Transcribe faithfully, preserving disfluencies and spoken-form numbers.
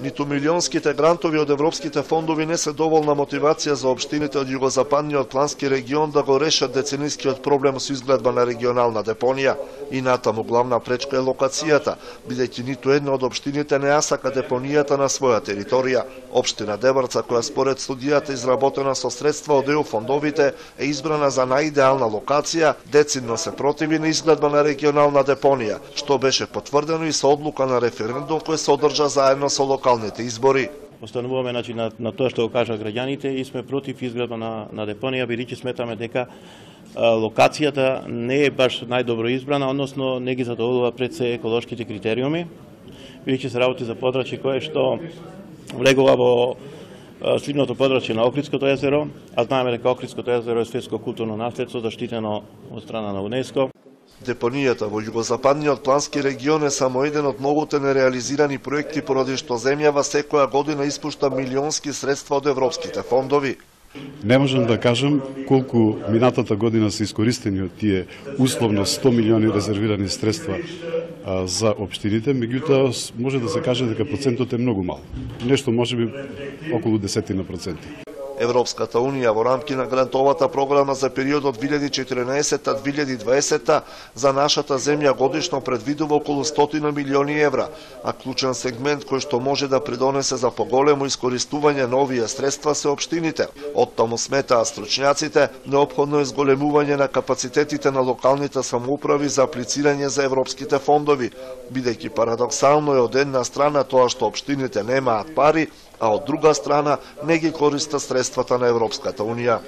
Ниту милионските грантови од европските фондови не се доволна мотивација за општините од југозападниот плански регион да го решат деценискиот проблем со изгледба на регионална депонија. И натаму главна пречка е локацијата, бидејќи ниту една од општините не ја сака депонијата на своја територија. Општина Деврца, која според студијата изработена со средства од Е У фондовите, е избрана за најидеална локација, децидно се противи на изгледба на регионална депонија, што беше потврдено и со одлука на референдум кој се одржа заедно со локалните избори. Остануваме значи, на, на тоа што го кажа граѓаните и сме против изградба на, на депонија, бидејќи сметаме дека а, локацијата не е баш најдобро избрана, односно не ги задоволува пред се еколошките критериуми, бидејќи се работи за подрачје кое што влегува во сливното подрачје на Охридското езеро, а знаеме дека Охридското езеро е светско културно наследство заштитено од страна на УНЕСКО. Депонијата во југозападниот плански регион е само еден од многуте нереализирани проекти поради што земјава секоја година испушта милионски средства од европските фондови. Не можам да кажам колку минатата година се искористени од тие условно сто милиони резервирани средства а, за општините, меѓутоа може да се каже дека процентот е многу мал. Нешто можеби околу десетина проценти. Европската Унија во рамки на грантовата програма за периодот две илјади и четиринаесетта до две илјади и дваесетта за нашата земја годишно предвидува околу стотина милиони евра, а клучен сегмент кој што може да придонесе за поголемо искористување на овие средства се општините. Оттаму сметаа стручњаците неопходно е зголемување на капацитетите на локалните самоуправи за аплицирање за европските фондови, бидејќи парадоксално е од една страна тоа што општините немаат пари, а од друга страна не ги користат средствата на Европската Унија.